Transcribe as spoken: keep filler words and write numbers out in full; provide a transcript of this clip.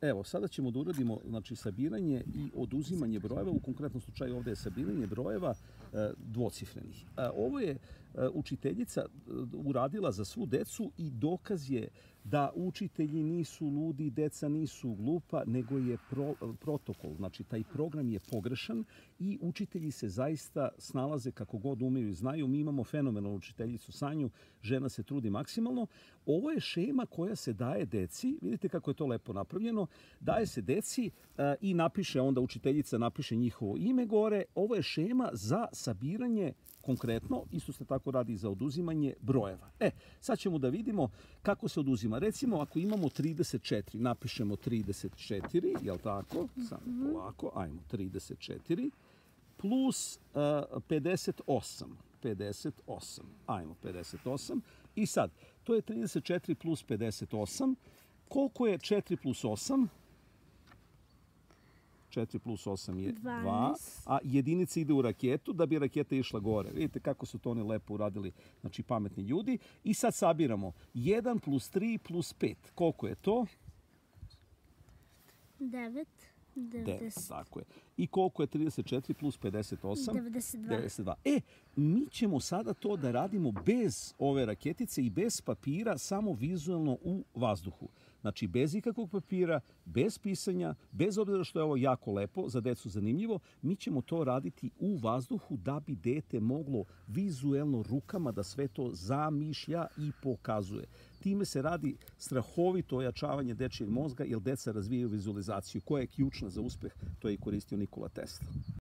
Evo, sada ćemo da uradimo znači, sabiranje i oduzimanje brojeva. U konkretnom slučaju ovdje je sabiranje brojeva e, dvocifrenih. E, ovo je e, učiteljica uradila za svu decu i dokaz je da učitelji nisu ludi, deca nisu glupa, nego je pro, protokol, znači taj program je pogrešan i učitelji se zaista snalaze kako god umeju i znaju. Mi imamo fenomenalnu učiteljicu Sanju, žena se trudi maksimalno. Ovo je šema koja se daje deci, vidite kako je to lepo napravljeno, daje se deci e, i napiše, onda učiteljica napiše njihovo ime gore. Ovo je šema za sabiranje konkretno, isto se tako radi za oduzimanje brojeva. E, sad ćemo da vidimo kako se oduzima. Recimo, ako imamo trideset četiri, napišemo trideset četiri, jel tako? Samo polako, ajmo, trideset četiri, plus uh, pedeset osam. pedeset osam, ajmo, pedeset osam. I sad, to je trideset četiri plus pedeset osam. Koliko je četiri plus osam? četiri plus osam je dva, a jedinica ide u raketu da bi raketa išla gore. Vidite kako su to oni lepo uradili, znači pametni ljudi. I sad sabiramo jedan plus tri plus pet. Koliko je to? devet. devet, tako je. I koliko je trideset četiri plus pedeset osam? devedeset dva. devedeset dva. E, mi ćemo sada to da radimo bez ove raketice i bez papira, samo vizualno u vazduhu. Znači, bez ikakvog papira, bez pisanja, bez obzira što je ovo jako lepo, za decu zanimljivo, mi ćemo to raditi u vazduhu da bi dete moglo vizuelno rukama da sve to zamišlja i pokazuje. Time se radi strahovito ojačavanje dečijeg mozga, jer deca razvijaju vizualizaciju koja je ključna za uspeh, to je i koristio Nikola Tesla.